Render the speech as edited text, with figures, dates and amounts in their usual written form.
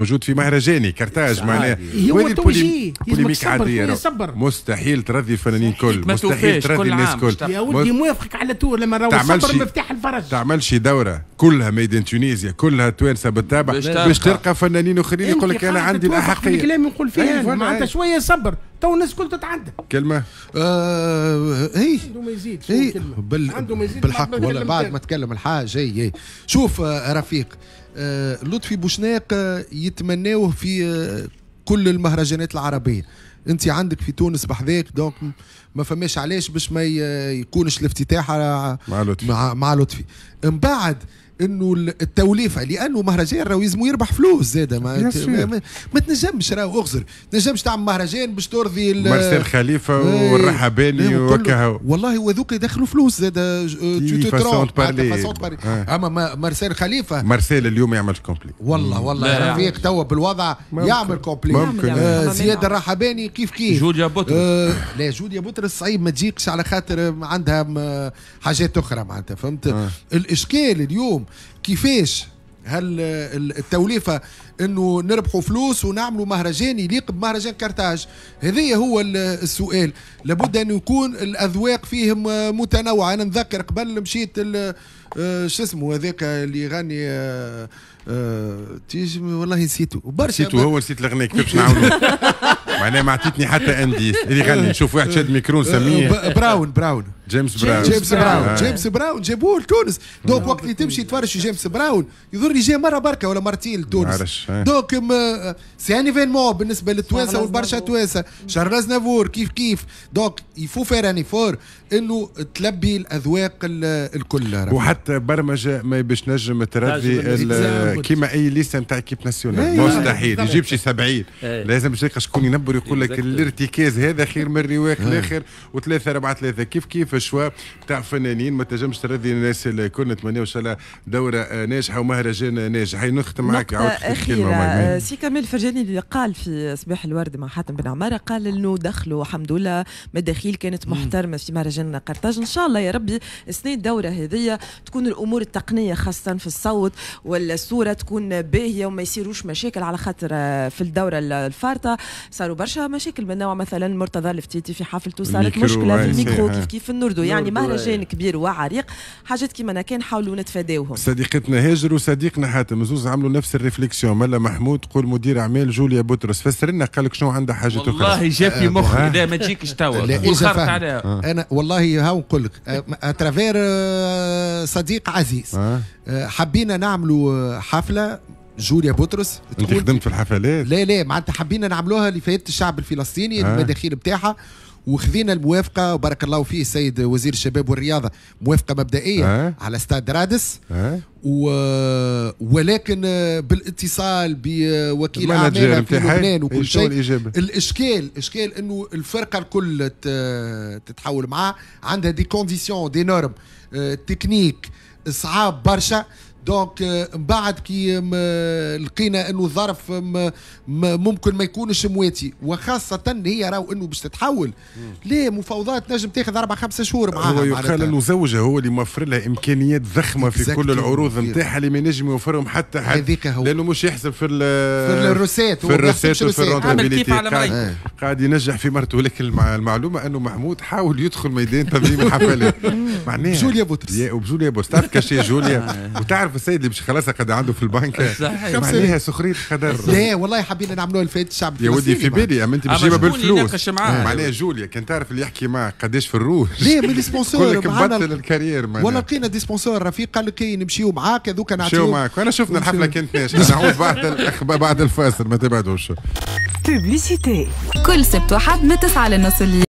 موجود في مهرجاني كرتاج معناها. هو توجيه polémique عادية، مستحيل ترضي الفنانين الكل، مستحيل ترضي الناس الكل. يا ولدي موافقك على طول لما راهو الصبر مفتاح الفرج. تعملش دوره كلها made in Tunisia، كلها توانسة بالتابع، باش تلقى فنانين اخرين يقول لك انا عندي الاحقيه. الكلام نقول فيه معناتها شوية صبر تو الناس الكل تتعدى. كلمة اي عنده ما يزيد، عنده ما يزيد بالحق ولا بعد ما تكلم الحاج. اي شوف رفيق، لطفي بوشناق يتمناوه في كل المهرجانات العربية. انت عندك في تونس بحذاك، donc ما فماش علاش باش ما يكونش الافتتاح مع لطفي، مع لطفي. من بعد انه التوليفه، لانه مهرجان راهو يلزمو يربح فلوس زاده، ما تنجمش راهو اغزر، تنجمش تعمل مهرجان باش ترضي مارسيل خليفة والرحباني وكهو. والله وذوك يدخلوا فلوس زاده، façon de parler. اما مارسيل خليفة، مارسيل اليوم يعمل complet. والله والله يا رفيق توا بالوضع يعمل complet. زياد الرحباني كيف كيف، جوليا بطرس. لا جوليا بطرس صعيب ما تجيكش على خاطر عندها حاجات اخرى معناتها، فهمت؟ الاشكال اليوم كيفاش هل التوليفه انه نربحوا فلوس ونعملوا مهرجان يليق بمهرجان كرتاج؟ هذا هو السؤال. لابد ان يكون الاذواق فيهم متنوعة. انا نذكر قبل مشيت شو اسمه هذاك اللي يغني تيجي، والله نسيته برشا، نسيته هو، نسيت الاغنية كيفاش نعاونوا معناها ما عطيتني حتى indice اللي يغني. نشوف واحد شاد ميكرو نسميه براون جيمس براون. جيمس براون، جيمس براون جابوه لتونس. donc وقت اللي تمشي تفرج في جيمس براون يظهر لي جا مرة بركة ولا مرتين لتونس. donc c'est un événement بالنسبة للتوانسه والبرشا توانسة. شارل ازنافور كيف كيف. donc il faut faire un effort انه تلبي الاذواق الكل. وحتى برمجة ما باش نجم ترضي كيما اي liste نتاع équipe nationale، مستحيل يجيب شي 70، لازم باش تلقى شكون ينبر يقول لك الارتكاز هذا خير من الرواق الاخر، وثلاثة اربعة ثلاثة كيف كيف choix تاع فنانين ما تنجمش ترضي الناس الكل. نتمنى ان شاء الله دوره ناجحة ومهرجان ناجح. هاي نختم معك. عاود أخيرة، سي كمال الفرجاني اللي قال في صباح الورد مع حاتم بن عمارة، قال انه دخلوا الحمد لله مداخيل كانت محترمه في مهرجان قرطاج. ان شاء الله يا ربي السنة الدورة هذه تكون الامور التقنية خاصة في الصوت والصورة تكون باهيه وما يصيروش مشاكل، على خاطر في الدورة الفارطه صاروا برشا مشاكل من نوع مثلا مرتضى الفتيتي في حفلته صارت مشكلة في الميكرو، كيف كيف النوردو. يعني مهرجان كبير وعريق، حاجات كيما كان حاولوا نتفاداوهم. صديقتنا هاجر وصديقنا حاتم زوز عملوا نفس ال réflexion. ملا محمود تقول مدير اعمال جوليا بطرس، فسر لنا قال لك شنو عندها حاجة اخرى. والله جا في مخي، لا ما تجيكش توا. انا والله هاو نقول لك à travers صديق عزيز حبينا نعملوا حفلة جوليا بطرس. انت خدمت في الحفلات؟ لا لا، معناتها حبينا نعملوها لفائدة الشعب الفلسطيني، المداخيل بتاعها، وخذينا الموافقة وبارك الله فيه السيد وزير الشباب والرياضة، موافقة مبدئية على استاد رادس. ولكن بالاتصال بوكيل اعمالها في لبنان وكل شيء، الاشكال اشكال انه الفرقة الكل تتحول معاه، عندها des conditions، des normes techniques صعاب برشا. donc من بعد كي لقينا انه الظرف ممكن ما يكونش مواتي، وخاصة هي راهو انه باش تتحول ليه مفاوضات نجم تاخذ 4-5 شهور معاها. هو يقال انه زوجها هو اللي موفر لها امكانيات ضخمة في كل العروض نتاعها اللي ما ينجم يوفرهم حتى حد، هذيك هو لانه مش يحسب في في ال recettes، في ال recettes وفي ال rentabilité، قاعد ينجح في مرته. ولكن المعلومة انه محمود حاول يدخل ميدان تنظيم الحفلات معناها جوليا بطرس. وبجوليا بطرس تعرف cachet جوليا، وتعرف السيد اللي باش خلاص قد عنده في البنك، معناها سخرية قدر. لا والله حبينا نعملوها لفائدة الشعب. يا ودي في بالي، اما انت باش بالفلوس. معناها جوليا كان تعرف اللي يحكي معك قداش في الروج. لا من les sponsors لك مبطل ال carrière. ولا لقينا des sponsors رفيق قال لك نمشيو معاك هذوك. نعطيو معاك، وانا شفنا الحفلة كانت ناجحة. نعود بعد الفاصل، ما تبعدوش. publicité كل سبت وحد من 9 لنص الليل.